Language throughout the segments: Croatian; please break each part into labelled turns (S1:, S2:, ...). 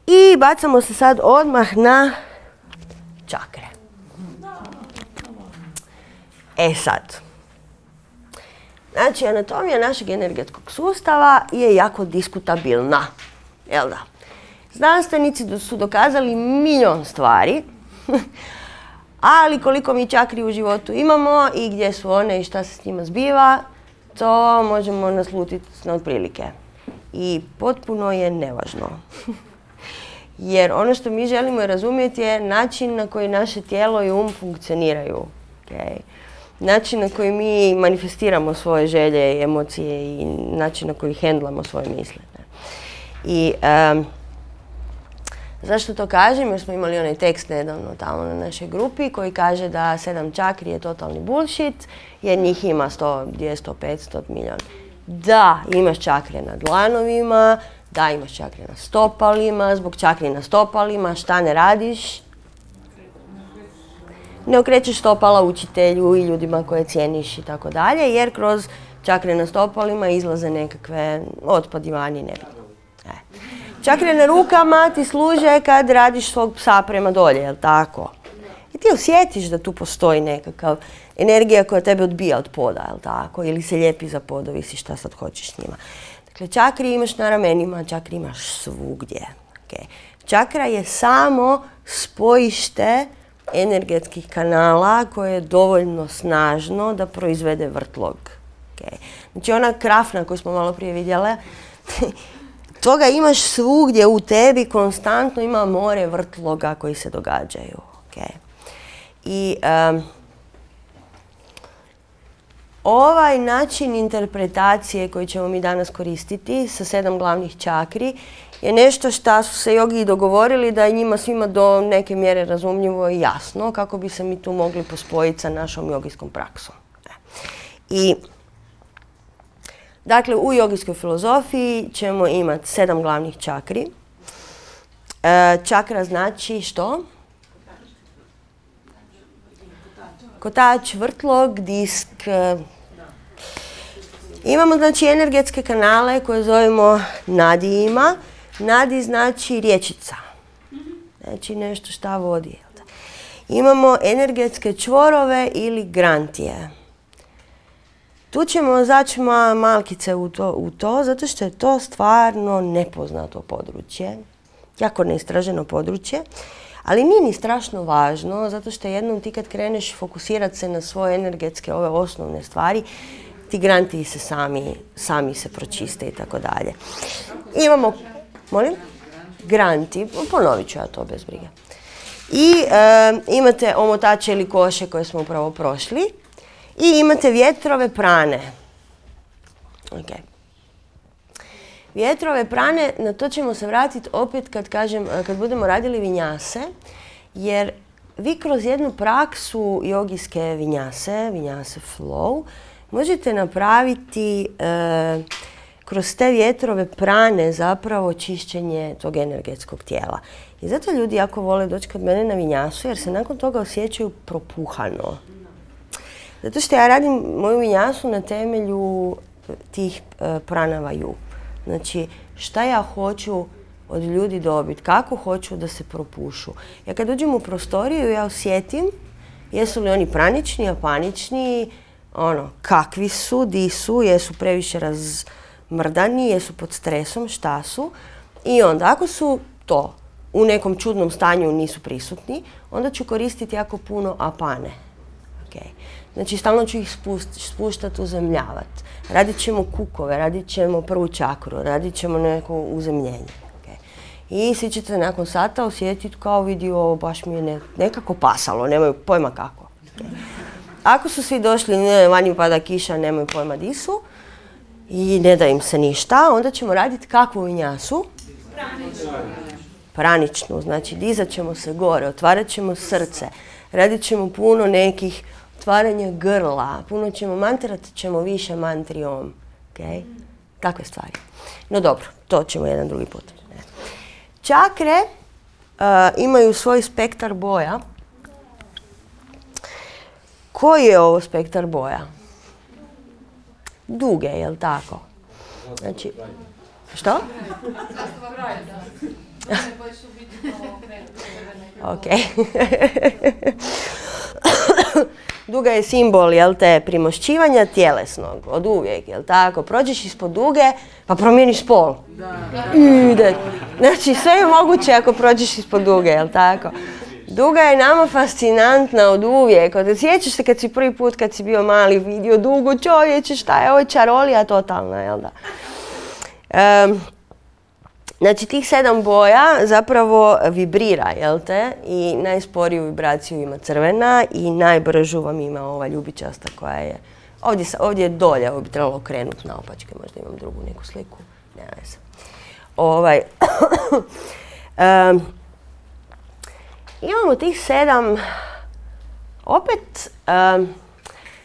S1: I bacamo se sad odmah na čakre. E sad. Znači, anatomija našeg energetskog sustava je jako diskutabilna. Jel da? Znanstvenici su dokazali milion stvari, ali koliko mi čakri u životu imamo i gdje su one i šta se s njima zbiva, to možemo naslutiti na otprilike. I potpuno je nevažno. Jer ono što mi želimo razumjeti je način na koji naše tijelo i funkcioniraju. Okay? Način na koji mi manifestiramo svoje želje i emocije i način na koji hendlamo svoje misle. I zašto to kažem? Jer smo imali onaj tekst nedavno tamo na našoj grupi koji kaže da 7 čakri je totalni bullshit jer njih ima 100, 200, 500 milijuna. Da, imaš čakre na dlanovima, da, imaš čakre na stopalima, zbog čakri na stopalima šta ne radiš? Ne okrećeš stopala učitelju i ljudima koje cijeniš i tako dalje, jer kroz čakre na stopalima izlaze nekakve otpadi vani, nebitno. Čakre na rukama ti služe kad radiš svog psa prema dolje, jel tako? I ti osjetiš da tu postoji nekakav energija koja tebe odbija od poda, jel tako? Ili se lijepi za pod, ovisi šta sad hoćeš s njima. Dakle, čakri imaš na ramenima, čakri imaš svugdje. Okay. Čakra je samo spojište energetskih kanala koje je dovoljno snažno da proizvede vrtlog. Okay. Znači ona krafna koju smo malo prije vidjeli, toga imaš svugdje u tebi, konstantno ima more vrtloga koji se događaju. Okay. I ovaj način interpretacije koji ćemo mi danas koristiti sa 7 glavnih čakri je nešto što su se jogi dogovorili da je njima svima do neke mjere razumljivo i jasno kako bi se mi tu mogli pospojiti sa našom jogijskom praksom. I dakle, u jogijskoj filozofiji ćemo imati 7 glavnih čakri. Čakra znači što? Kotač, vrtlog, disk. Imamo znači energetske kanale koje zovemo nadijima. Nadi znači rječica. Znači nešto šta vodi. Imamo energetske čvorove ili grantije. Tu ćemo zaći malkice u to, zato što je to stvarno nepoznato područje. Jako neistraženo područje. Ali nije ni strašno važno, zato što jednom ti kad kreneš fokusirati se na svoje energetske ove osnovne stvari, ti grantiji se sami se pročiste i tako dalje. Imamo, molim? Granti, ponovit ću ja to bez brige. I imate omotače ili koše koje smo upravo prošli. I imate vjetrove prane. Okay. Vjetrove prane, na to ćemo se vratiti opet kad budemo radili vinjase, jer vi kroz jednu praksu jogijske vinjase flow, možete napraviti kroz te vjetrove prane zapravo čišćenje tog energetskog tijela. I zato ljudi jako vole doći kod mene na vinjasu jer se nakon toga osjećaju propuhano. Zato što ja radim moju vinjasu na temelju tih pranavaju. Znači, šta ja hoću od ljudi dobiti, kako hoću da se propušu. Ja kad uđem u prostoriju, ja osjetim jesu li oni pranični, apanični, kakvi su, di su, jesu previše razmrdani, jesu pod stresom, šta su. I onda, ako su to u nekom čudnom stanju nisu prisutni, onda ću koristiti jako puno apane. Okay. Znači, stalno ću ih spuštati, uzemljavati. Radit ćemo kukove, radit ćemo prvu čakru, radit ćemo neko uzemljenje. Okay. I svi ćete nakon sata osjetiti kao vidi ovo baš mi je nekako pasalo, nemaju pojma kako. Okay. Ako su svi došli, vani pada kiša, nemaju pojma di su i ne da im se ništa, onda ćemo raditi kakvu vinjasu? Praničnu. Znači, dizat ćemo se gore, otvarat ćemo srce, radit ćemo puno nekih otvaranja grla, puno ćemo mantrat ćemo više mantrijom. Okay? Takve stvari. No dobro, to ćemo jedan drugi put. Čakre imaju svoj spektar boja. Koji je ovo spektar boja? Duge, jel tako? Znači, što? Ok. Duga je simbol, jel te, primošćivanja tjelesnog, od uvijek, jel tako? Prođeš ispod duge, pa promijeniš spol. Ide. Znači, sve je moguće ako prođeš ispod duge, jel tako? Duga je nama fascinantna od uvijek. Sjećaš se kad si prvi put, kad si bio mali, vidio dugu, čovječe, šta je ovo, čarolija totalna, jel da? Znači, tih 7 boja zapravo vibrira, jel te? I najsporiju vibraciju ima crvena i najbržu vam ima ova ljubičasta koja je... Ovdje je dolje, ovo bi trebalo okrenuti naopačke, možda imam drugu neku sliku. Nema veze. Imamo tih 7, opet,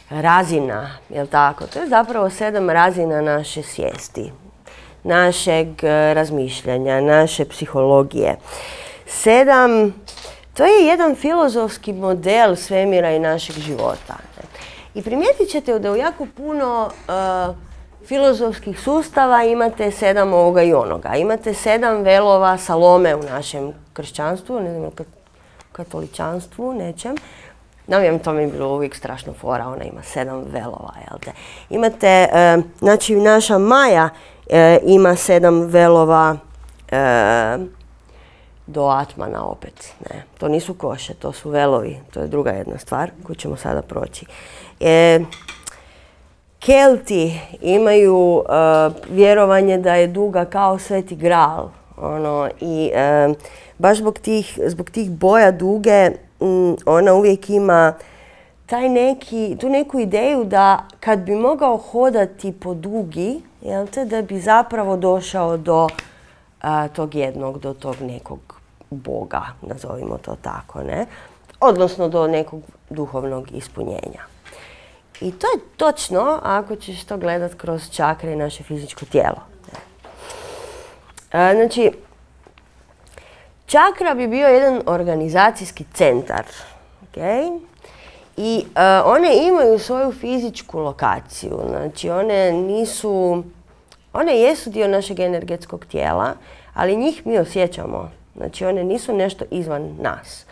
S1: razina, jel tako? To je zapravo 7 razina naše svijesti, našeg razmišljanja, naše psihologije. 7, to je jedan filozofski model svemira i našeg života. I primijetit ćete da u jako puno filozofskih sustava imate 7 ovoga i onoga. Imate 7 velova salome u našem kršćanstvu, ne znam, katoličanstvu, nečem. Navijem, to mi je bilo uvijek strašno fora, ona ima 7 velova, jel te? Imate, znači naša Maja ima 7 velova do Atmana opet, ne. To nisu koše, to su velovi, to je druga jedna stvar koju ćemo sada proći. Kelti imaju vjerovanje da je duga kao Sveti Gral, i baš zbog tih boja duge ona uvijek ima tu neku ideju da kad bi mogao hodati po dugi, jel te, da bi zapravo došao do do tog nekog Boga, nazovimo to tako, ne? Odnosno do nekog duhovnog ispunjenja. I to je točno ako ćeš to gledat kroz čakre i naše fizičko tijelo. Znači, čakra bi bio jedan organizacijski centar. Okay? I one imaju svoju fizičku lokaciju. Znači, one jesu dio našeg energetskog tijela, ali njih mi osjećamo. Znači, one nisu nešto izvan nas.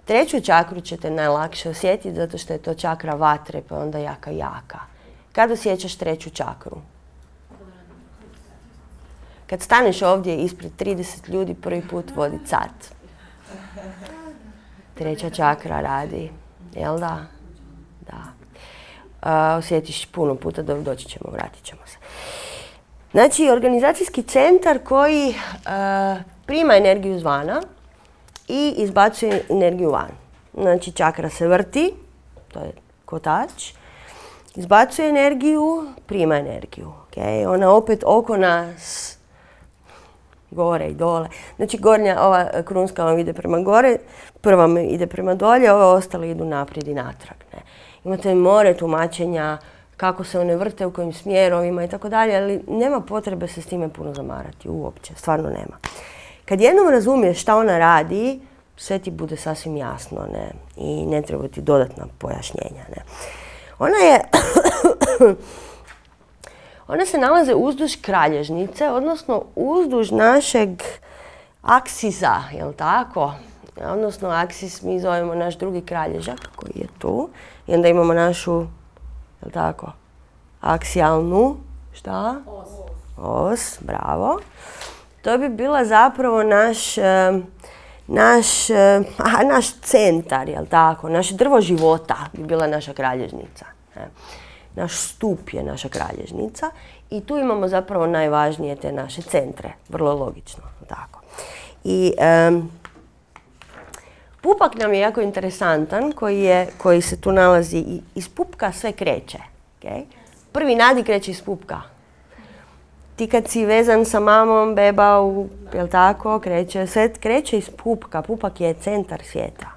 S1: 3. čakru ćete najlakše osjetiti zato što je to čakra vatre, pa onda jaka. Kad osjećaš 3. čakru? Kad staneš ovdje ispred 30 ljudi prvi put vodit sat. 3. čakra radi, jel da? Da. Osjetiš puno puta, doći ćemo, vratit ćemo se. Znači, organizacijski centar koji prima energiju izvana i izbacuje energiju van. Znači, čakra se vrti, to je kotač, izbacuje energiju, prima energiju. Okay? Ona opet oko nas, gore i dole. Znači, gornja, ova krunska vam ide prema gore, prva vam ide prema dolje, ove ostale idu naprijed i natrag. Ne? Imate more tumačenja kako se one vrte, u kojim smjerovima i tako dalje, ali nema potrebe se s time puno zamarati, uopće, stvarno nema. Kad jednom razumiješ šta ona radi, sve ti bude sasvim jasno, ne? I ne treba ti dodatna pojašnjenja. Ne? Ona se nalaze uzduž kralježnice, odnosno uzduž našeg aksisa, jel tako? Odnosno aksis mi zovemo naš drugi kralježak koji je tu. I onda imamo našu, jel tako, aksijalnu, šta? Os, bravo. To bi bila zapravo naš centar, jel tako? Naše drvo života bi bila naša kralježnica. Naš stup je naša kralježnica i tu imamo zapravo najvažnije te naše centre, vrlo logično, tako. I pupak nam je jako interesantan koji se tu nalazi i iz pupka sve kreće. Okay? Prvi nadi kreće iz pupka. Ti kad si vezan sa mamom, beba, jel tako, sve kreće iz pupka. Pupak je centar svijeta.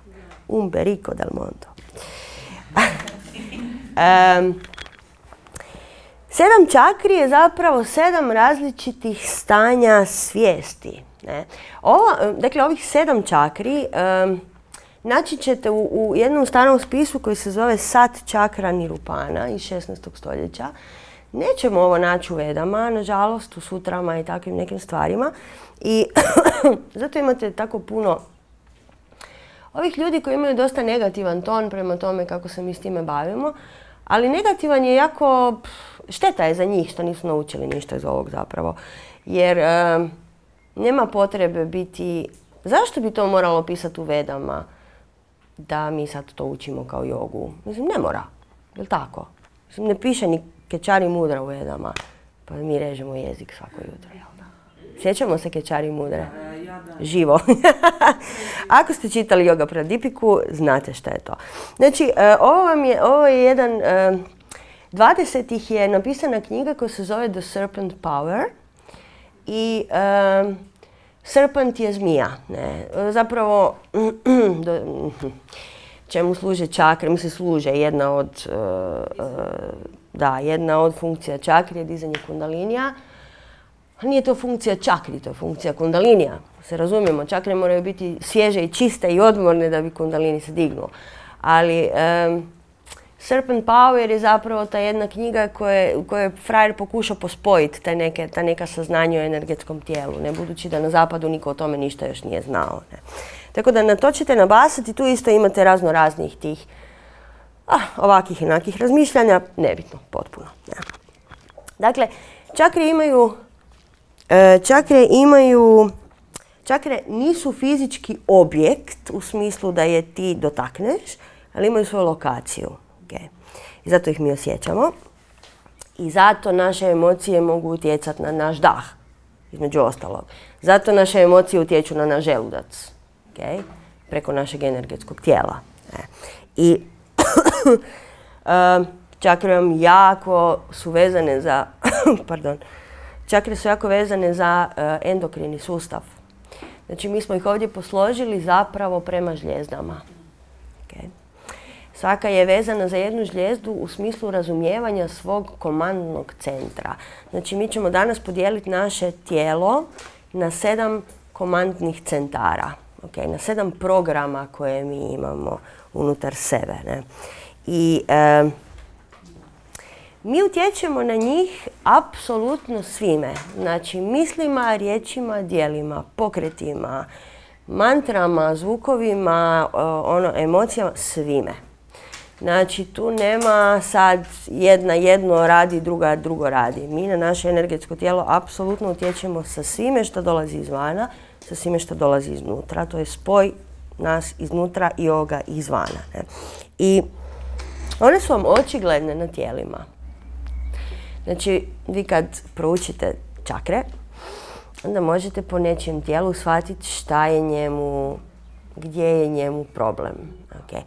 S1: Umberico del mondo. 7 čakri je zapravo 7 različitih stanja svijesti. Ne? Dakle, ovih 7 čakri naći ćete u jednom starom spisu koji se zove Sat čakra Nirupana iz 16. stoljeća. Nećemo ovo naći u Vedama, nažalost, u sutrama i takvim nekim stvarima. I zato imate tako puno ovih ljudi koji imaju dosta negativan ton prema tome kako se mi s time bavimo, ali negativan je jako, šteta je za njih što nisu naučili ništa iz ovog zapravo. Jer nema potrebe biti, zašto bi to moralo pisati u Vedama da mi sad to učimo kao jogu? Mislim, ne mora, je li tako? Mislim, ne piše ni Kečari mudra u Vedama, pa mi režemo jezik svako jutro, jel da? Sjećamo se Kečari mudre? Živo. Ako ste čitali Yoga Pradipiku, znate šta je to. Znači, ovo je jedan, 20-ih je napisana knjiga koja se zove The Serpent Power i serpent je zmija. Ne? Zapravo, čemu služe čakre? Mislim, služe jedna od funkcija čakri je dizanje kundalinija. Nije to funkcija čakri, to je funkcija kundalinija. Se razumijemo, čakre moraju biti svježe i čiste i odmorne da bi kundalini se dignuo. Ali Serpent Power je zapravo ta jedna knjiga u kojoj je frajer pokušao pospojiti ta neka saznanja o energetskom tijelu, ne budući da na zapadu niko o tome ništa još nije znao. Ne. Tako da na to ćete nabasati, tu isto imate razno raznih tih ovakih i onakih razmišljanja, nebitno, potpuno. Ne. Dakle, čakre nisu fizički objekt u smislu da je ti dotakneš, ali imaju svoju lokaciju. Okay. I zato ih mi osjećamo. I zato naše emocije mogu utjecati na naš dah, između ostalog. Zato naše emocije utječu na naš želudac, okay, preko našeg energetskog tijela. I čakre vam jako su vezane za, čakre su jako vezane za endokrini sustav. Znači, mi smo ih ovdje posložili zapravo prema žljezdama. Okay. Svaka je vezana za jednu žljezdu u smislu razumijevanja svog komandnog centra. Znači, mi ćemo danas podijeliti naše tijelo na 7 komandnih centara. Okay, na 7 programa koje mi imamo unutar sebe. Ne? I mi utječemo na njih apsolutno svime. Znači, mislima, riječima, djelima, pokretima, mantrama, zvukovima, emocijama, svime. Znači, tu nema sad jedna jedno radi, druga drugo radi. Mi na naše energetsko tijelo apsolutno utječemo sa svime što dolazi izvana, sa svime što dolazi iznutra. To je spoj nas iznutra i ovoga izvana. Ne? I one su vam očigledne na tijelima. Znači, vi kad proučite čakre, onda možete po nečijem tijelu shvatiti šta je njemu, gdje je njemu problem. Okay.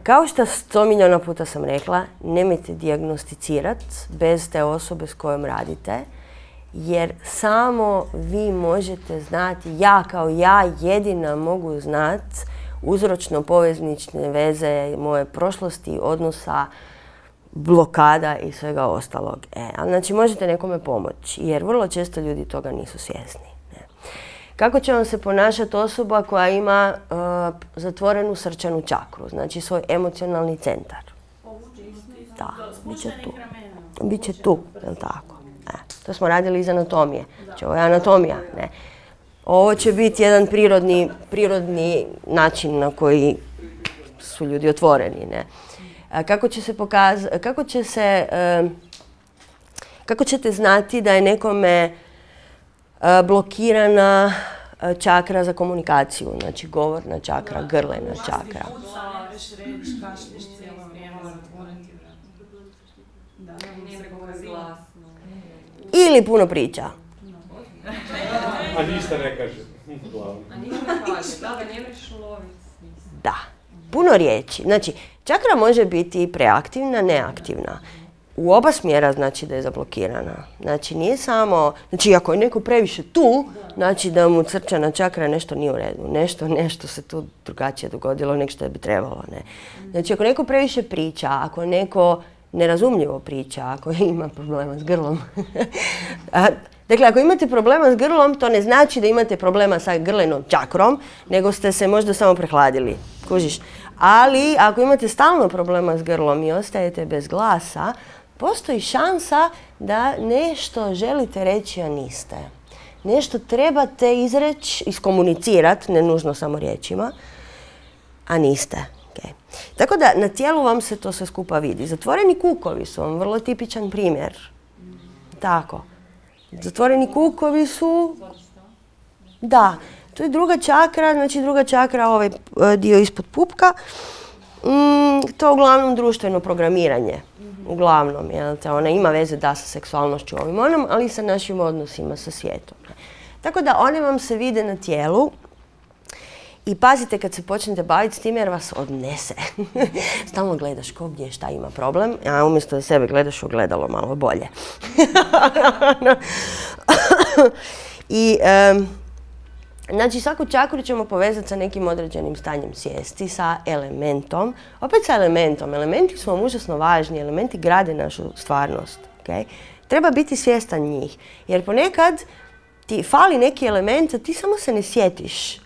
S1: Kao što 100 milijuna puta sam rekla, nemojte dijagnosticirati bez te osobe s kojom radite, jer samo vi možete znati, ja kao ja jedina mogu znati uzročno-poveznične veze moje prošlosti, odnosa, blokada i svega ostalog. Znači, možete nekome pomoći, jer vrlo često ljudi toga nisu svjesni. Kako će vam se ponašati osoba koja ima zatvorenu srčanu čakru, znači svoj emocionalni centar? Da, bit će tu. Biće tu, je li tako? To smo radili iz anatomije. Znači, ovo je anatomija. Ne? Ovo će biti jedan prirodni način na koji su ljudi otvoreni. Ne? Kako ćete znati da je nekome blokirana čakra za komunikaciju, znači govorna čakra, grlena čakra. Ili puno priča.
S2: A ništa ne kaže.
S1: Da, puno riječi. Znači, čakra može biti preaktivna, neaktivna. U oba smjera znači da je zablokirana. Znači, nije samo, znači ako je neko previše tu, znači da mu srčana čakra nešto nije u redu. Nešto se tu drugačije dogodilo nego što bi trebalo. Ne? Znači, ako neko previše priča, ako neko nerazumljivo priča, ako ima problema s grlom. Dakle, ako imate problema s grlom, to ne znači da imate problema sa grlenom čakrom, nego ste se možda samo prehladili. Kužiš? Ali, ako imate stalno problema s grlom i ostajete bez glasa, postoji šansa da nešto želite reći, a niste. Nešto trebate izreći, iskomunicirati, ne nužno samo riječima, a niste. Okay. Tako da na tijelu vam se to sve skupa vidi. Zatvoreni kukovi su vam vrlo tipičan primjer. Tako. Zatvoreni kukovi su... Da, to je druga čakra, znači druga čakra, ovaj dio ispod pupka. To je uglavnom društveno programiranje. Uglavnom, jel te, ona ima veze da sa seksualnošću ovim onom, ali i sa našim odnosima sa svijetom. Tako da one vam se vide na tijelu i pazite kad se počnete baviti s tim jer vas odnese. Stalno gledaš ko gdje šta ima problem, a umjesto da sebe gledaš ogledalo malo bolje. I znači svaku čakru ćemo povezati sa nekim određenim stanjem svijesti, sa elementom. Opet sa elementom. Elementi su vam užasno važni, elementi grade našu stvarnost. Okay? Treba biti svjestan njih. Jer ponekad ti fali neki element, a ti samo se ne sjetiš.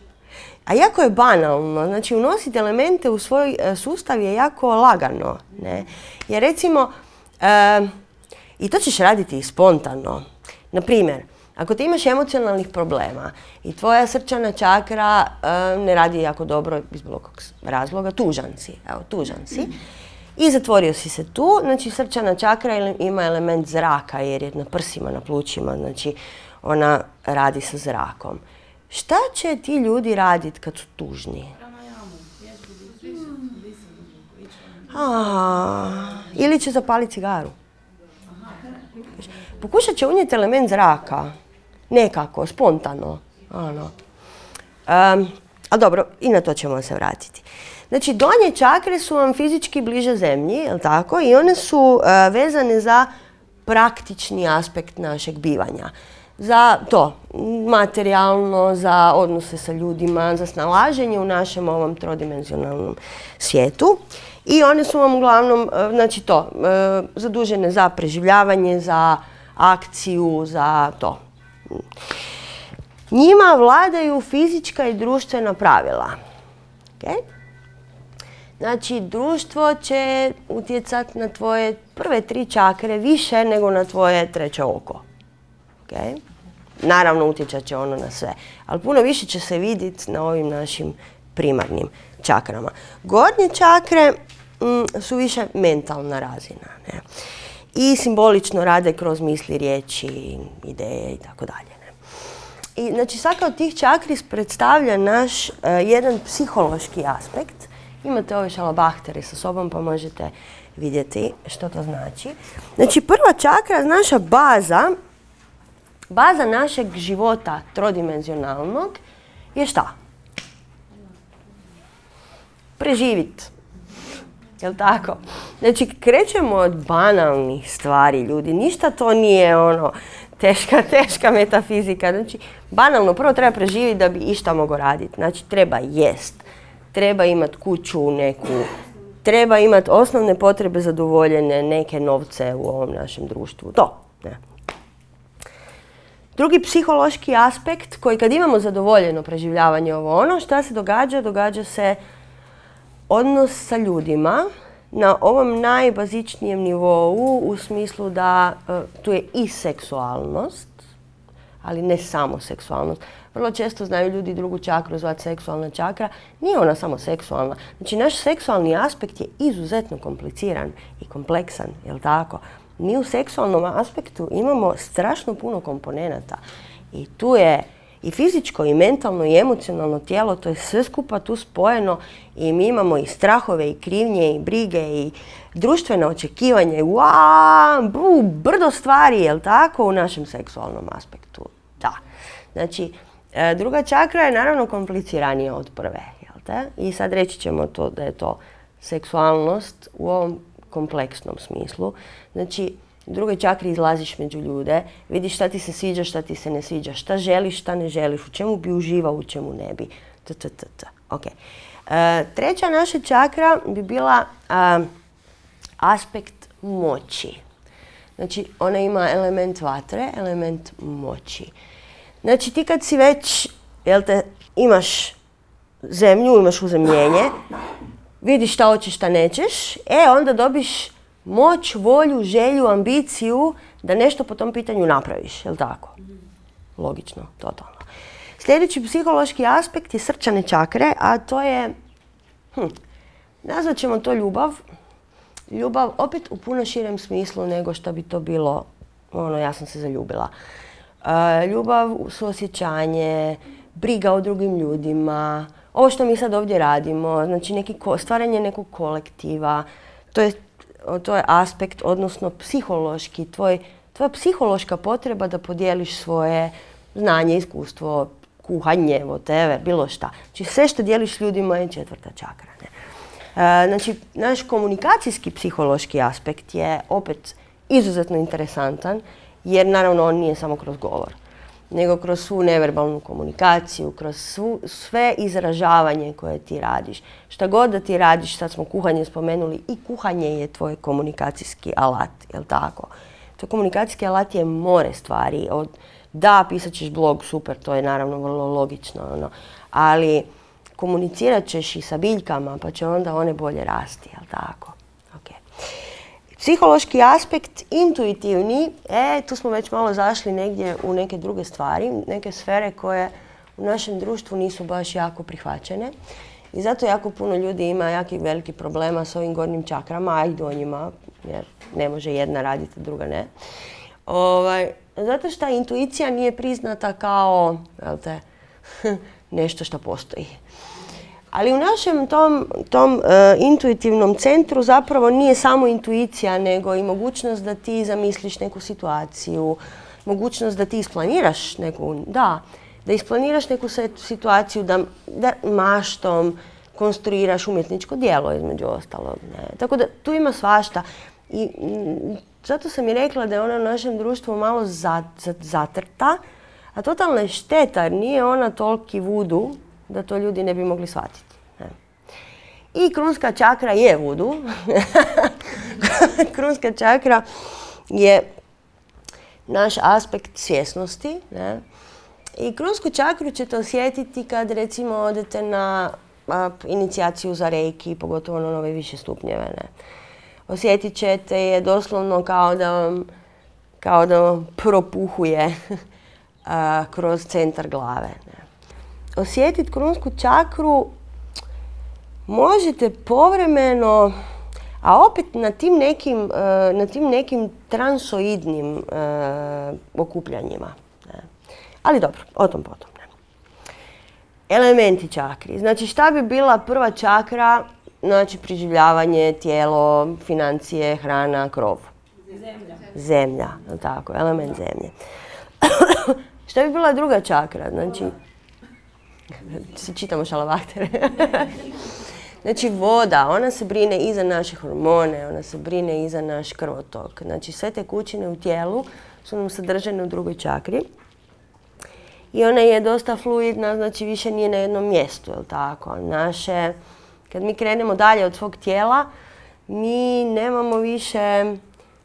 S1: A jako je banalno. Znači unositi elemente u svoj sustav je jako lagano. Ne? Jer recimo, i to ćeš raditi spontano. Naprimjer, ako ti imaš emocionalnih problema i tvoja srčana čakra ne radi jako dobro iz bilo kog razloga, tužan si, evo tužan si, i zatvorio si se tu, znači srčana čakra ima element zraka jer je na prsima, na plućima, znači ona radi sa zrakom. Šta će ti ljudi raditi kad su tužni? Ili će zapaliti cigaru. Pokušat će unijeti element zraka. Nekako, spontano. Ali dobro, i na to ćemo se vratiti. Znači, donje čakre su vam fizički bliže zemlji, jel tako? I one su vezane za praktični aspekt našeg bivanja. Za to, materijalno, za odnose sa ljudima, za snalaženje u našem ovom trodimenzionalnom svijetu. I one su vam uglavnom, znači to, zadužene za preživljavanje, za akciju, za to. Njima vladaju fizička i društvena pravila. Okay? Znači, društvo će utjecati na tvoje prve 3 čakre više nego na tvoje 3. oko. Okay? Naravno, utjecat će ono na sve. Ali puno više će se vidjeti na ovim našim primarnim čakrama. Gornje čakre su više mentalna razina. Ne? I simbolično rade kroz misli, riječi, ideje i tako dalje. I znači svaka od tih čakri predstavlja naš jedan psihološki aspekt. Imate ove šalabahtere sa sobom pa možete vidjeti što to znači. Znači prva čakra, naša baza našeg života trodimenzionalnog je šta? Preživjeti. Jel' tako? Znači, krećemo od banalnih stvari, ljudi. Ništa to nije ono teška metafizika. Znači, banalno, prvo treba preživjeti da bi išta mogao raditi. Znači, treba jest. Treba imati kuću neku. Treba imati osnovne potrebe zadovoljene, neke novce u ovom našem društvu. To. Ne. Drugi psihološki aspekt koji kad imamo zadovoljeno preživljavanje ovo ono, šta se događa? Događa se odnos sa ljudima na ovom najbazičnijem nivou u smislu da tu je i seksualnost, ali ne samo seksualnost. Vrlo često znaju ljudi drugu čakru zvati seksualna čakra. Nije ona samo seksualna. Znači naš seksualni aspekt je izuzetno kompliciran i kompleksan, jel' tako? Mi u seksualnom aspektu imamo strašno puno komponenata i tu je i fizičko, i mentalno, i emocionalno tijelo, to je sve skupa tu spojeno i mi imamo i strahove, i krivnje, i brige, i društvene očekivanje, brdo stvari, jel' tako, u našem seksualnom aspektu. Da. Znači, druga čakra je naravno kompliciranija od prve, jel' te? I sad reći ćemo to da je to seksualnost u ovom kompleksnom smislu. Znači, u drugoj čakri izlaziš među ljude, vidiš šta ti se sviđa, šta ti se ne sviđa, šta želiš, šta ne želiš, u čemu bi uživao, u čemu ne bi. Okay. Treća naša čakra bi bila aspekt moći. Znači, ona ima element vatre, element moći. Znači, ti kad si već, imaš zemlju, imaš uzemljenje, vidiš šta hoćeš, šta nećeš, onda dobiš moć, volju, želju, ambiciju da nešto po tom pitanju napraviš, jel' tako? Logično, totalno. Sljedeći psihološki aspekt je srčane čakre, a to je Nazvat ćemo to ljubav. Ljubav opet u puno širem smislu nego što bi to bilo, ja sam se zaljubila. Ljubav, suosjećanje, briga o drugim ljudima, ovo što mi sad ovdje radimo, znači stvaranje nekog kolektiva, to je aspekt, odnosno psihološki, tvoja psihološka potreba da podijeliš svoje znanje, iskustvo, kuhanje, whatever, bilo šta. Znači sve što dijeliš ljudima je 4. čakra. Znači, naš komunikacijski psihološki aspekt je opet izuzetno interesantan, jer naravno on nije samo kroz govor, nego kroz svu neverbalnu komunikaciju, kroz sve izražavanje koje ti radiš. Šta god da ti radiš, sad smo kuhanje spomenuli, i kuhanje je tvoj komunikacijski alat, jel tako? Tvoj komunikacijski alat je more stvari. Da, pisat ćeš blog, super, to je naravno vrlo logično, ali komunicirat ćeš i sa biljkama, pa će onda one bolje rasti, jel tako? Okay. Psihološki aspekt, intuitivni, tu smo već malo zašli negdje u neke druge stvari, neke sfere koje u našem društvu nisu baš jako prihvaćene. I zato jako puno ljudi ima jakih velikih problema s ovim gornjim čakrama, a i donjima, jer ne može jedna raditi, a druga ne. Zato što intuicija nije priznata kao nešto što postoji. Ali u našem tom intuitivnom centru zapravo nije samo intuicija, nego i mogućnost da ti zamisliš neku situaciju, mogućnost da ti isplaniraš da isplaniraš neku situaciju, da maštom konstruiraš umjetničko djelo, između ostalog. Tako da tu ima svašta. I zato sam i rekla da je ona u našem društvu malo zatrta, a totalna je šteta jer nije ona toliki vudu da to ljudi ne bi mogli shvatiti. I krunska čakra je vudu. Krunska čakra je naš aspekt svjesnosti. I krunsku čakru ćete osjetiti kad recimo odete na inicijaciju za reiki, pogotovo na nove više stupnjeve. Osjetit ćete je doslovno kao da vam propuhuje kroz centar glave. Osjetiti krunsku čakru možete povremeno, a opet na tim nekim transoidnim okupljanjima. Ali dobro, o tom potom. Elementi čakri. Znači šta bi bila prva čakra? Znači preživljavanje, tijelo, financije, hrana, krov. Zemlja, tako, element zemlje. Šta bi bila druga čakra? Znači, čitamo šalabahtere. Znači voda, ona se brine i za naše hormone, ona se brine i za naš krvotok. Znači sve tekućine u tijelu su nam sadržane u drugoj čakri. I ona je dosta fluidna, znači više nije na jednom mjestu, jel tako? Kad mi krenemo dalje od svog tijela, mi nemamo više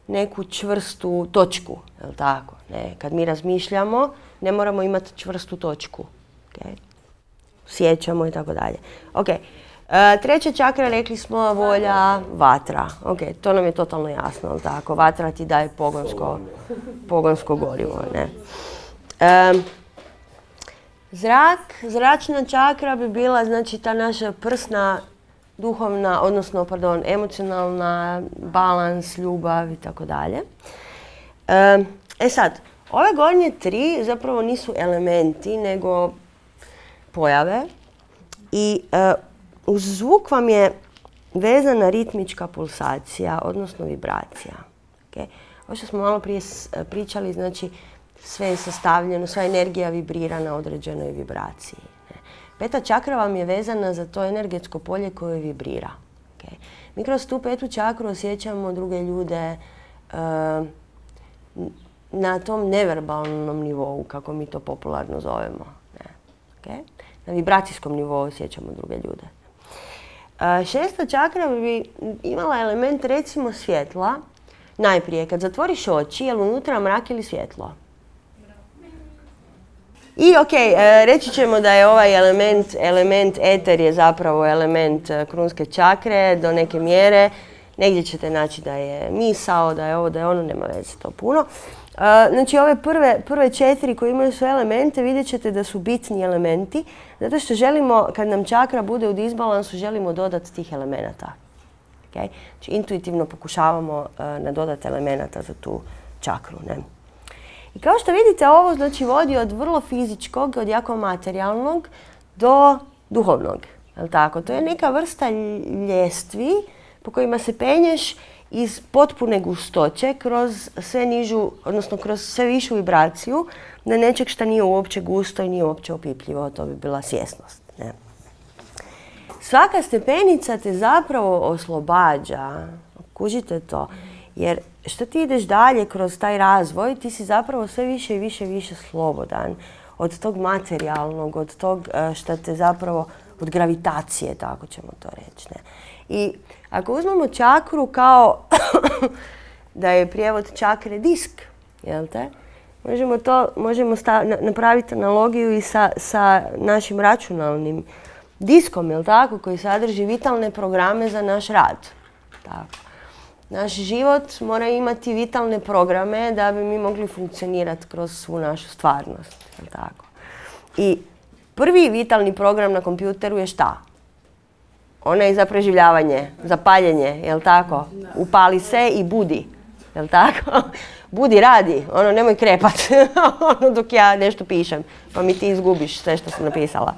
S1: neku čvrstu točku, jel tako? Kad mi razmišljamo, ne moramo imati čvrstu točku. Sjećamo i tako dalje. Treća čakra, rekli smo, volja, vatra. To nam je totalno jasno, jel tako? Vatra ti daje pogonsko gorivo. Zračna čakra bi bila, znači, ta naša prsna, duhovna, odnosno, emocionalna, balans, ljubav i tako dalje. Sad, ove gornje tri zapravo nisu elementi, nego pojave i uz zvuk vam je vezana ritmička pulsacija, odnosno vibracija. Ovo što smo malo prije pričali, znači, sve je sastavljeno, sva energija vibrira na određenoj vibraciji. Peta čakra vam je vezana za to energetsko polje koje vibrira. Mi kroz tu petu čakru osjećamo druge ljude na tom neverbalnom nivou, kako mi to popularno zovemo. Na vibracijskom nivou osjećamo druge ljude. Šesta čakra bi imala element, recimo, svjetla. Najprije, kad zatvoriš oči, je li unutra mrak ili svjetlo? I reći ćemo da je ovaj element eter je zapravo element krunske čakre do neke mjere. Negdje ćete naći da je misao, da je ovo, da je ono, nema veze to puno. Znači ove prve četiri koje imaju sve elemente vidjet ćete da su bitni elementi Zato što želimo, kad nam čakra bude u disbalansu, želimo dodati tih elemenata. Okay? Znači, intuitivno pokušavamo nadodati elemenata za tu čakru. Ne? I kao što vidite, ovo znači vodi od vrlo fizičkog, od jako materijalnog do duhovnog. Jel tako? To je neka vrsta ljestvi po kojima se penješ iz potpune gustoće kroz sve nižu, odnosno kroz sve višu vibraciju na nečeg što nije uopće gusto i nije uopće opipljivo. To bi bila svjesnost. Ne? Svaka stepenica te zapravo oslobađa. Kužite to. Jer što ti ideš dalje kroz taj razvoj, ti si zapravo sve više i više slobodan od tog materijalnog, od tog što te zapravo, od gravitacije, tako ćemo to reći. Ne? I ako uzmemo čakru kao da je prijevod čakre disk, jel te? Možemo napraviti analogiju i sa našim računalnim diskom, jel tako, koji sadrži vitalne programe za naš rad. Tako. Naš život mora imati vitalne programe da bi mi mogli funkcionirati kroz svu našu stvarnost. Jel tako? I prvi vitalni program na kompjuteru je šta? Onaj za preživljavanje, za paljenje, jel tako? Upali se i budi, jel tako? Budi, radi, nemoj krepat, dok ja nešto pišem, pa mi ti izgubiš sve što sam napisala.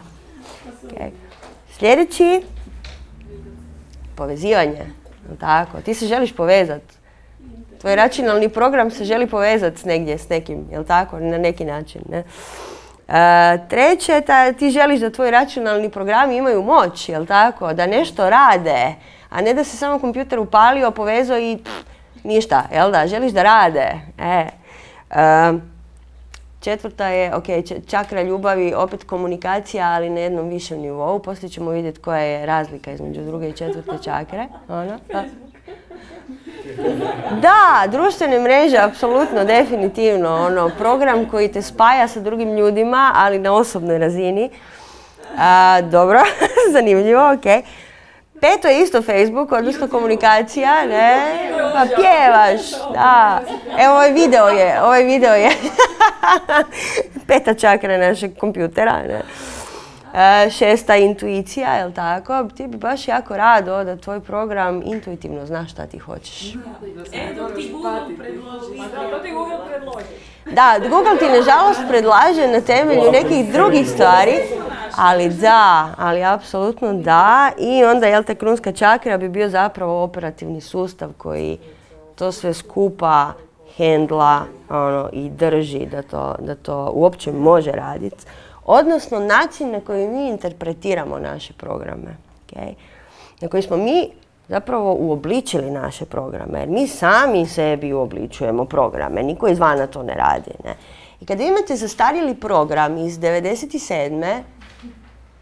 S1: Okay. Sljedeći, povezivanje, jel tako? Ti se želiš povezati. Tvoj računalni program se želi povezati negdje s nekim, jel tako? Na neki način, ne? Treće, ti želiš da tvoji računalni programi imaju moć, jel tako? Da nešto rade, a ne da se samo kompjuter upalio, povezao i ništa, jel da? Želiš da rade. Četvrta je, čakra ljubavi, opet komunikacija, ali na jednom višem nivou. Poslije ćemo vidjeti koja je razlika između druge i četvrte čakre. Da, društvene mreže, apsolutno, definitivno. Program koji te spaja sa drugim ljudima, ali na osobnoj razini. Dobro, zanimljivo, ok. Peto je isto Facebook, odnosno komunikacija, ne? Pa pjevaš, da. Evo, ovaj video je peta čakra našeg kompjutera, ne? Šesta intuicija, jel tako? Ti bi baš jako rado da tvoj program intuitivno zna šta ti hoćeš.
S3: To ti Google predloži.
S1: Da, Google ti nažalost predlaže na temelju nekih drugih stvari, ali apsolutno da. I onda, jel te, krunska čakra bi bio zapravo operativni sustav koji to sve skupa hendla i drži da to uopće može raditi. Odnosno način na koji mi interpretiramo naše programe. Okay? Na koji smo mi zapravo uobličili naše programe. Jer mi sami sebi uobličujemo programe. Niko izvana to ne radi. Ne? I kada imate zastarjeli program iz 97.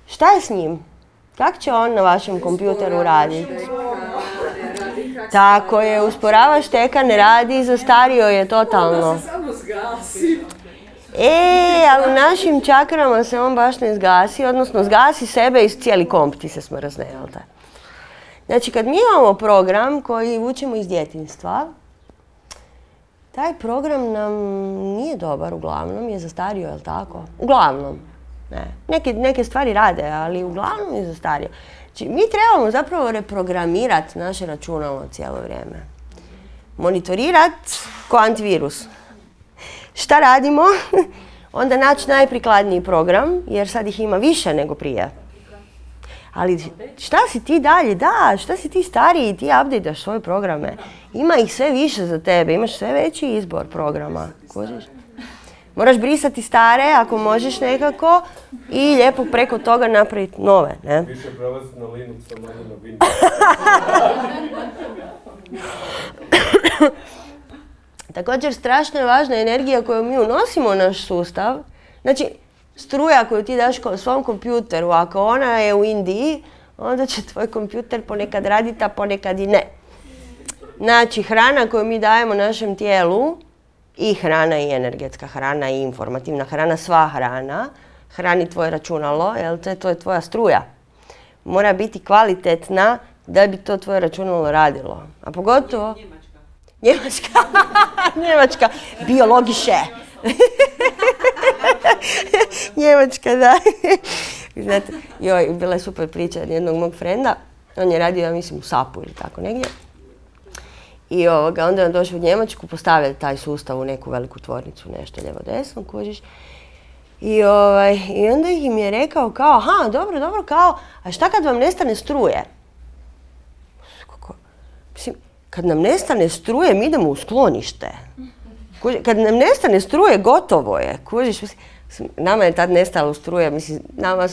S1: Šta je s njim? Kako će on na vašem kompjuteru raditi? Tako je, usporava šteka, ne radi, zastario je totalno. Ali u našim čakrama se on baš ne zgasi, odnosno zgasi sebe i cijeli komp ti se smrzne, jel te? Znači, kad mi imamo program koji učimo iz djetinjstva, taj program nam nije dobar, uglavnom je zastario, jel tako? Uglavnom. Ne. Neke stvari rade, ali uglavnom je zastario. Znači, mi trebamo zapravo reprogramirati naše računalo cijelo vrijeme. Monitorirati ko antivirus. Šta radimo? Onda naći najprikladniji program, jer sad ih ima više nego prije. Ali šta si ti dalje? Da, šta si ti stariji? Ti update-daš svoje programe. Ima ih sve više za tebe, imaš sve veći izbor programa. Kužiš? Moraš brisati stare, ako možeš nekako, i lijepo preko toga napraviti nove. Ne?
S2: Više prelaziti na Linux, a manje na Windows.
S1: Također, strašno je važna energija koju mi unosimo u naš sustav. Znači, struja koju ti daš svom kompjuteru, ako ona je u Indiji, onda će tvoj kompjuter ponekad raditi, a ponekad i ne. Znači, hrana koju mi dajemo našem tijelu, i hrana i energetska hrana i informativna hrana, sva hrana, hrani tvoje računalo, jel te, to je tvoja struja. Mora biti kvalitetna da bi to tvoje računalo radilo. A pogotovo... Njemačka. Biologiše. Njemačka, da. Znate, joj, bila je super priča jednog mog frenda. On je radio, ja mislim, u SAP-u ili tako negdje. I onda je on došao u Njemačku, postavili taj sustav u neku veliku tvornicu, nešto lijevo-desno, kužiš. I onda im je rekao kao, aha, dobro, kao, a šta kad vam nestane struje? Mislim, kad nam nestane struje, mi idemo u sklonište. Kad nam nestane struje, gotovo je. Kužiš, nama je tad nestalo struje, mislim, nama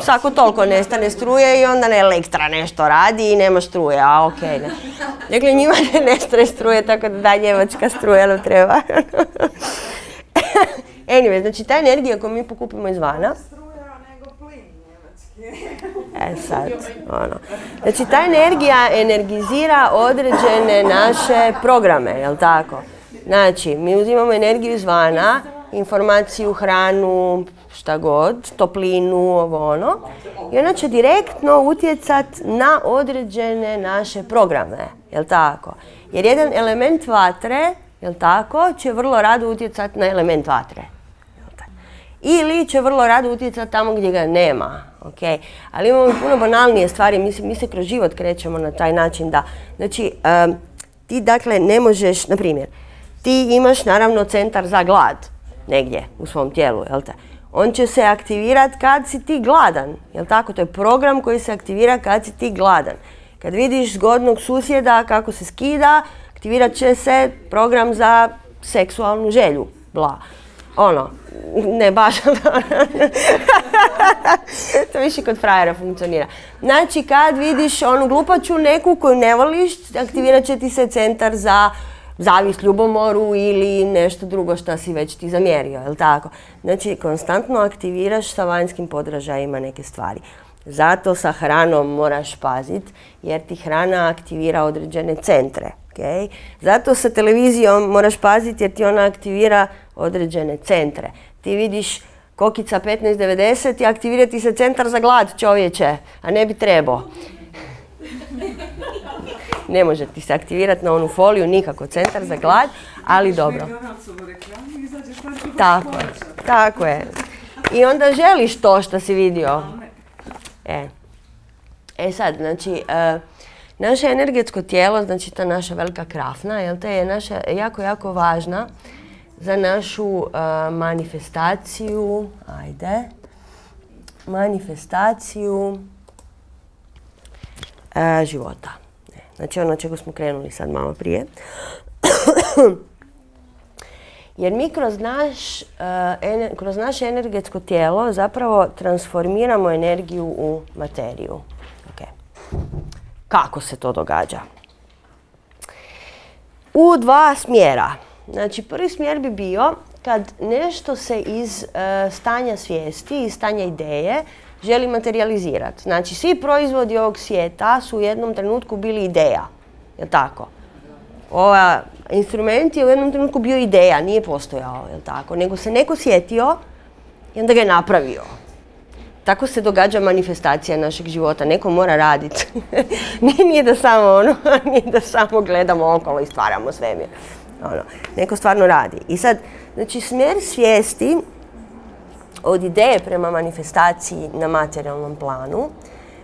S1: svako toliko nestane struje i onda Elektra nešto radi i nema struje, a okej. Dakle, njima ne nestane struje, tako da njemačka struja nam treba. Anyway, znači ta energija koju mi pokupimo izvana, sad, Znači, ta energija energizira određene naše programe, jel tako? Znači, mi uzimamo energiju izvana, informaciju, hranu, šta god, toplinu, i ona će direktno utjecati na određene naše programe, jel tako? Jer jedan element vatre, jel tako, će vrlo rado utjecati na element vatre. Ili će vrlo rado utjecati tamo gdje ga nema, ok? Ali imamo i puno banalnije stvari, mi se kroz život krećemo na taj način da, znači, ti dakle ne možeš, na primjer, ti imaš naravno centar za glad negdje u svom tijelu, jel te? On će se aktivirati kad si ti gladan, jel tako? To je program koji se aktivira kad si ti gladan. Kad vidiš zgodnog susjeda kako se skida, aktivirat će se program za seksualnu želju, bla. Ne baš, to više kod frajera funkcionira. Znači, kad vidiš onu glupaču neku koju ne voliš, aktivirat će ti se centar za zavist, ljubomoru ili nešto drugo što si već ti zamjerio, jel tako? Znači, konstantno aktiviraš sa vanjskim podražajima neke stvari. Zato sa hranom moraš paziti, jer ti hrana aktivira određene centre. Okay? Zato sa televizijom moraš paziti, jer ti ona aktivira određene centre. Ti vidiš Kokica 1590 i aktivira ti se centar za glad, čovječe, a ne bi trebao. Ne može ti se aktivirati na onu foliju nikako centar za glad, ali dobro. Tako je. I onda želiš to što si vidio. Sad, znači, naše energetsko tijelo, znači ta naša velika krafna, jel te je naša jako važna za našu manifestaciju života. Znači ono čega smo krenuli sad malo prije. Jer mi kroz naše energetsko tijelo zapravo transformiramo energiju u materiju. Kako se to događa? U dva smjera. Znači, prvi smjer bi bio kad nešto se iz stanja svijesti, iz stanja ideje, želi materializirati. Znači, svi proizvodi ovog svijeta su u jednom trenutku bili ideja. Je li tako? Ova instrument je u jednom trenutku bio ideja, nije postojao, je li tako? Nego se neko sjetio i onda ga je napravio. Tako se događa manifestacija našeg života. Neko mora raditi. Nije da samo gledamo okolo i stvaramo svemir. Neko stvarno radi. I sad, znači, smjer svijesti od ideje prema manifestaciji na materijalnom planu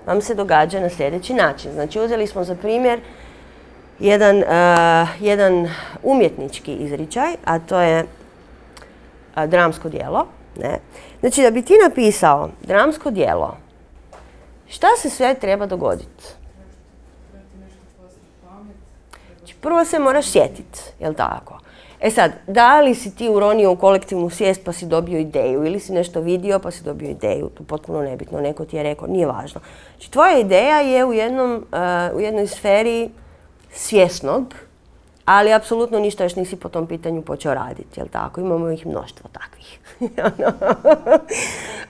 S1: vam se događa na sljedeći način. Znači, uzeli smo za primjer jedan umjetnički izričaj, a to je dramsko djelo. Znači, da bi ti napisao dramsko djelo, šta se sve treba dogoditi? Znači, prvo se moraš sjetiti, jel tako? Sad, da li si ti uronio u kolektivnu svijest pa si dobio ideju ili si nešto vidio pa si dobio ideju, to je potpuno nebitno, neko ti je rekao, nije važno. Znači, tvoja ideja je u jednoj sferi svjesnog, ali apsolutno ništa još nisi po tom pitanju počeo raditi, jel tako? Imamo ih mnoštvo takvih.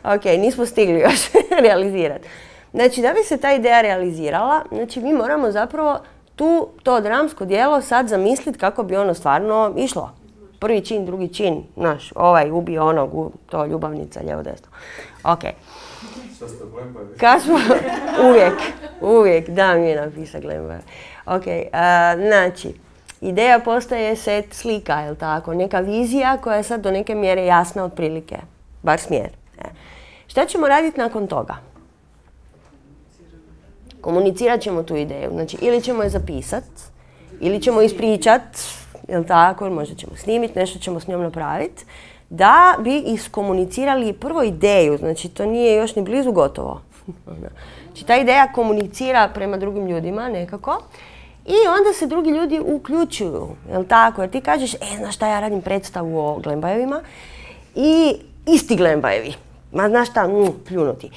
S1: Ok, nismo stigli još realizirati. Znači, da bi se ta ideja realizirala, znači mi moramo zapravo to dramsko djelo sad zamisliti kako bi ono stvarno išlo. Prvi čin, drugi čin, znaš, ovaj ubio onog, to ljubavnica, lijevo desno. Ok.
S2: Šta ste Glembavi?
S1: Uvijek, da mi je napisao Glembavi. Ok, znači, ideja postaje set slika, jel tako? Neka vizija koja je sad do neke mjere jasna otprilike, bar smjer. Šta ćemo raditi nakon toga? Komunicirat ćemo tu ideju. Znači, ili ćemo je zapisat, ili ćemo ispričat, jel tako, možda ćemo snimiti, nešto ćemo s njom napraviti, da bi iskomunicirali prvo ideju. Znači, to nije još ni blizu gotovo. Znači, ta ideja komunicira prema drugim ljudima nekako i onda se drugi ljudi uključuju, jel tako? Jer ti kažeš, znaš šta, ja radim predstavu o Glembajevima i isti Glembajevi. Ma znaš šta, pljunuti.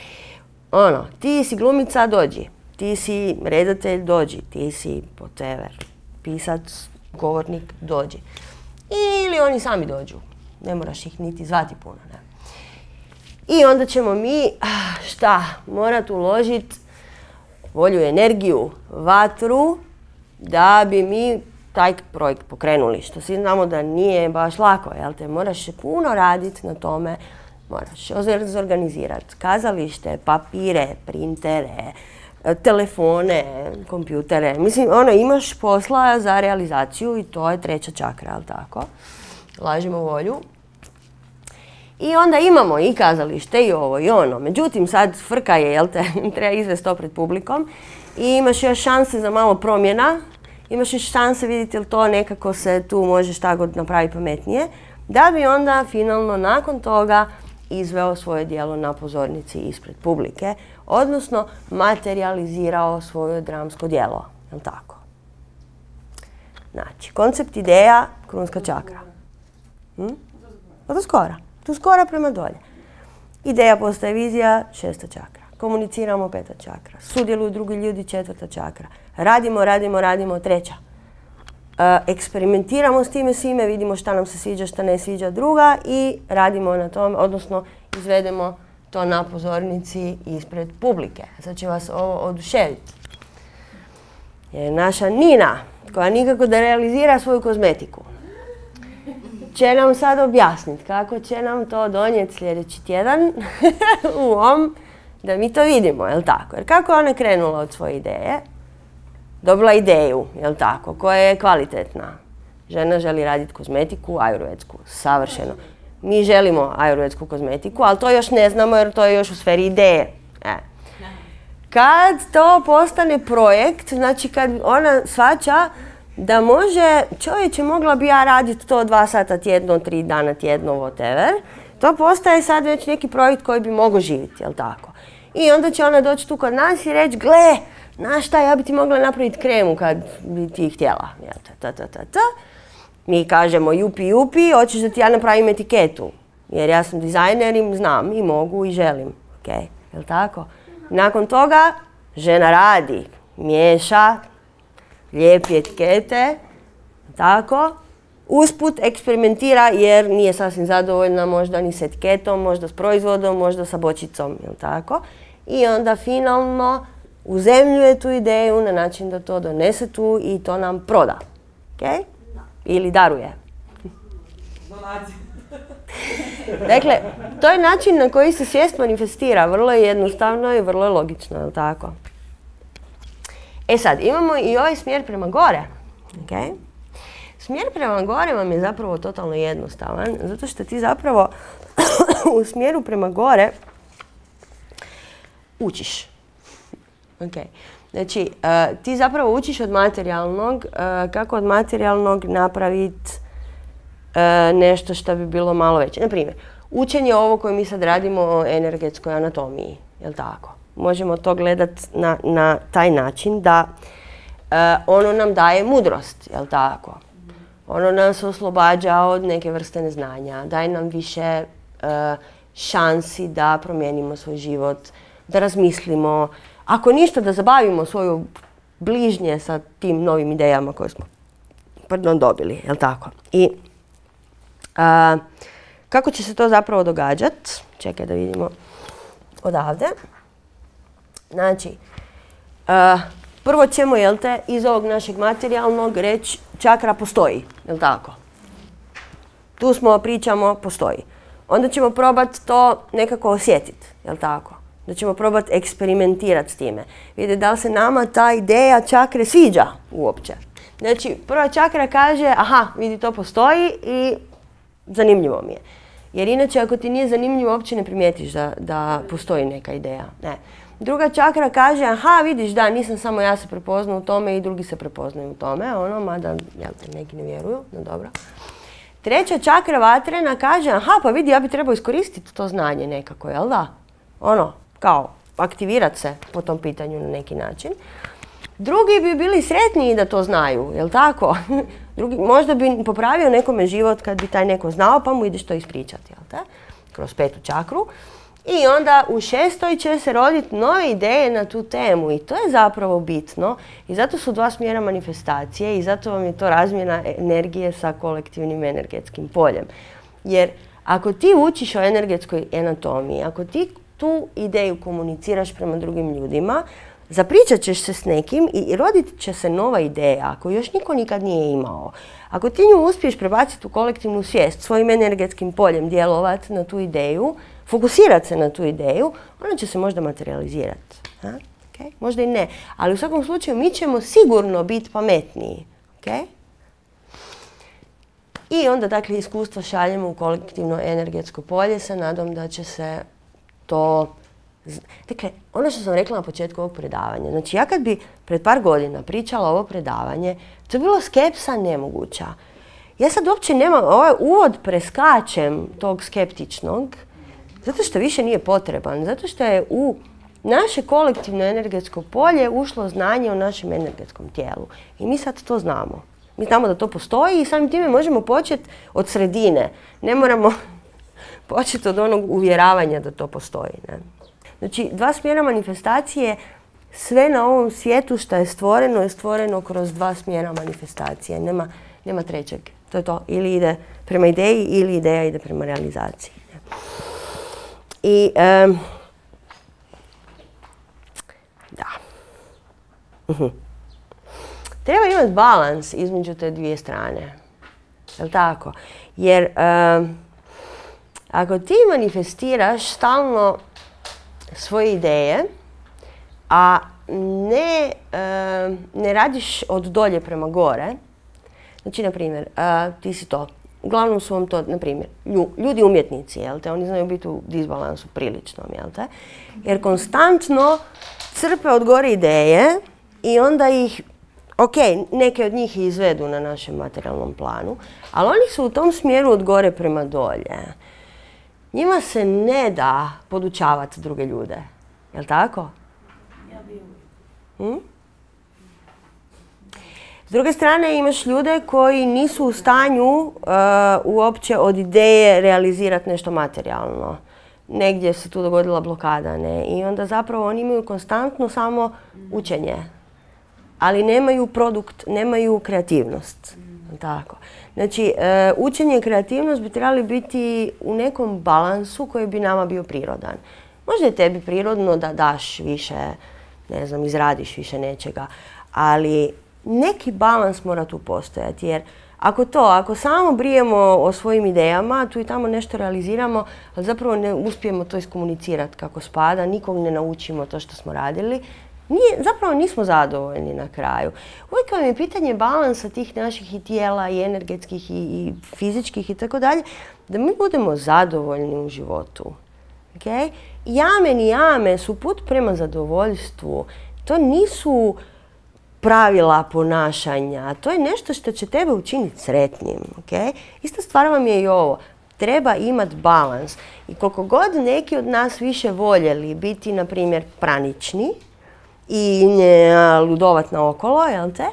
S1: Ti si glumica, dođi. Ti si redatelj, dođi. Ti si whatever, pisac, govornik, dođi. Ili oni sami dođu. Ne moraš ih niti zvati puno, ne? I onda ćemo mi, morati uložiti volju, energiju, vatru, da bi mi taj projekt pokrenuli. Što svi znamo da nije baš lako, jel te? Moraš puno raditi na tome, moraš organizirati kazalište, papire, printere, telefone, kompjutere. Mislim, imaš posla za realizaciju i to je treća čakra, jel tako? Lažimo volju. I onda imamo i kazalište i ovo i ono. Međutim, sad frka je, jel te, treba izvesti to pred publikom i imaš još šanse za malo promjena. Imaš još šanse vidjeti li to nekako se tu može šta god napraviti pametnije, da bi onda finalno nakon toga izveo svoje djelo na pozornici ispred publike, odnosno materializirao svoje dramsko djelo, jel tako? Znači, koncept ideja, krunska čakra. Tu skora prema dolje. Ideja postaje vizija, 6. čakra. Komuniciramo, 5. čakra. Sudjeluju drugi ljudi, 4. čakra. Radimo, 3. Eksperimentiramo s time svime, vidimo šta nam se sviđa, šta ne sviđa, 2. i radimo na tome, odnosno izvedemo to na pozornici ispred publike. Sad će vas ovo oduševiti. Jer naša Nina, koja nikako da realizira svoju kozmetiku, će nam sad objasniti kako će nam to donijeti sljedeći tjedan da mi to vidimo, jel tako? Jer kako je ona krenula od svoje ideje, dobila ideju, jel tako, koja je kvalitetna. Žena želi raditi kozmetiku, ajurvedsku, savršeno. Mi želimo ajurvedsku kozmetiku, ali to još ne znamo jer to je još u sferi ideje. Kad to postane projekt, znači kad ona shvaća da može, čovječe, mogla bi ja raditi to 2 sata tjedno, 3 dana tjedno, whatever, to postaje sad već neki projekt koji bi mogao živjeti, jel tako? I onda će ona doći tu kod nas i reći, gle, znaš šta, ja bi ti mogla napraviti kremu kad bi ti htjela. Mi kažemo, jupi, hoćeš da ti ja napravim etiketu. Jer ja sam dizajner i znam i mogu i želim. Jel tako? Nakon toga žena radi, miješa, lijepi etikete, tako. Usput eksperimentira jer nije sasvim zadovoljna možda ni s etiketom, možda s proizvodom, možda sa bočicom, jel tako? I onda finalno uzemljuje tu ideju na način da to donese tu i to nam proda. Ili daruje. Dakle, to je način na koji se svijest manifestira. Vrlo je jednostavno i vrlo je logično, jel tako? Sad, imamo i ovaj smjer prema gore. Smjer prema gore vam je zapravo totalno jednostavan, zato što ti zapravo u smjeru prema gore učiš. Znači, ti zapravo učiš od materijalnog, kako od materijalnog napraviti nešto što bi bilo malo veće. Naprimjer, učenje ovo koje mi sad radimo o energetskoj anatomiji, jel tako? Možemo to gledati na taj način da ono nam daje mudrost, jel tako? Ono nas oslobađa od neke vrste neznanja, daje nam više šansi da promijenimo svoj život, da razmislimo, ako ništa da zabavimo svoju bližnje sa tim novim idejama koje smo dobili, jel tako? I kako će se to zapravo događati? Čekaj da vidimo odavde. Znači, prvo ćemo, jel te, iz ovog našeg materijalnog reći čakra postoji, jel tako? Tu smo, pričamo, postoji. Onda ćemo probati to nekako osjetiti, jel tako? Da ćemo probati eksperimentirati s time. Vidjeti da li se nama ta ideja čakre sviđa uopće. Znači, prva čakra kaže, aha, vidi, to postoji i zanimljivo mi je. Jer inače ako ti nije zanimljivo, uopće ne primijetiš da postoji neka ideja. Ne. Druga čakra kaže, aha, vidiš, da, nisam samo ja se prepoznao u tome i drugi se prepoznaju u tome, mada, jel te, neki ne vjeruju, no dobro. Treća čakra vatrena kaže, aha, pa vidi, ja bi trebao iskoristiti to znanje nekako, jel da? Kao, aktivirati se po tom pitanju na neki način. Drugi bi bili sretniji da to znaju, jel tako? Možda bi popravio nekome život kad bi taj neko znao, pa mu ideš to ispričati, jel te? Kroz 5. čakru. I onda u 6. će se roditi nove ideje na tu temu i to je zapravo bitno. I zato su 2 smjera manifestacije i zato vam je to razmjena energije sa kolektivnim energetskim poljem. Jer ako ti učiš o energetskoj anatomiji, ako ti tu ideju komuniciraš prema drugim ljudima, zapričat ćeš se s nekim i rodit će se nova ideja ako još niko nikad nije imao. Ako ti nju uspiješ prebaciti u kolektivnu svijest, svojim energetskim poljem djelovati na tu ideju, fokusirati se na tu ideju, ona će se možda materializirati. Okay? Možda i ne. Ali u svakom slučaju mi ćemo sigurno biti pametniji. Okay? I onda dakle iskustvo šaljemo u kolektivno energetsko polje sa nadom da će se to... Dakle, ono što sam rekla na početku ovog predavanja, znači ja kad bi pred par godina pričala ovo predavanje, to je bilo skepsa nemoguća. Ja sad uopće nemam, ovaj uvod preskačem tog skeptičnog, zato što više nije potreban, zato što je u naše kolektivno energetsko polje ušlo znanje o našem energetskom tijelu. I mi sad to znamo. Mi znamo da to postoji i samim time možemo početi od sredine. Ne moramo početi od onog uvjeravanja da to postoji. Ne? Znači, 2 smjera manifestacije, sve na ovom svijetu što je stvoreno kroz 2 smjera manifestacije. Nema trećeg. To je to. Ili ide prema ideji ili ideja ide prema realizaciji. I da. Treba imati balans između te 2 strane. Jel' tako? Jer ako ti manifestiraš stalno svoje ideje, a ne radiš od dolje prema gore, znači, na primjer, ti si to, uglavnom su vam to, na primjer, ljudi umjetnici, jel te, oni znaju biti u disbalansu priličnom, jel te, jer konstantno crpe od gore ideje i onda ih, neke od njih izvedu na našem materijalnom planu, ali oni su u tom smjeru od gore prema dolje. Njima se ne da podučavati druge ljude. Jel' tako?
S3: Ja bi uvijek.
S1: S druge strane imaš ljude koji nisu u stanju uopće od ideje realizirati nešto materijalno. Negdje se tu dogodila blokada, ne? I onda zapravo oni imaju konstantno samo učenje. Ali nemaju produkt, nemaju kreativnost. Tako. Znači, učenje i kreativnost bi trebali biti u nekom balansu koji bi nama bio prirodan. Možda je tebi prirodno da daš više, ne znam, izradiš više nečega, ali neki balans mora tu postojati, jer ako samo brijemo o svojim idejama, tu i tamo nešto realiziramo, ali zapravo ne uspijemo to iskomunicirati kako spada, nikog ne naučimo to što smo radili, zapravo nismo zadovoljni na kraju. Uvijek vam je pitanje balansa tih naših i tijela i energetskih i fizičkih i tako dalje, da mi budemo zadovoljni u životu. Okay? Jamen i jame su put prema zadovoljstvu. To nisu pravila ponašanja, to je nešto što će tebe učiniti sretnim. Okay? Ista stvar vam je i ovo. Treba imati balans. I koliko god neki od nas više voljeli biti, na primjer, pranični, i ludovat naokolo, jel te?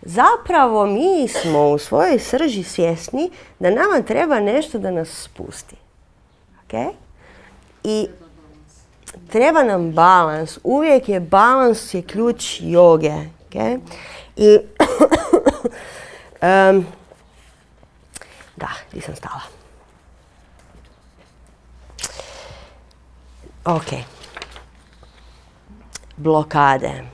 S1: Zapravo mi smo u svojoj srži svjesni da nama treba nešto da nas spusti. Okay? I treba nam balans. Uvijek je balans je ključ joge. Okay? I da, gdje sam stala? Ok. Blokade.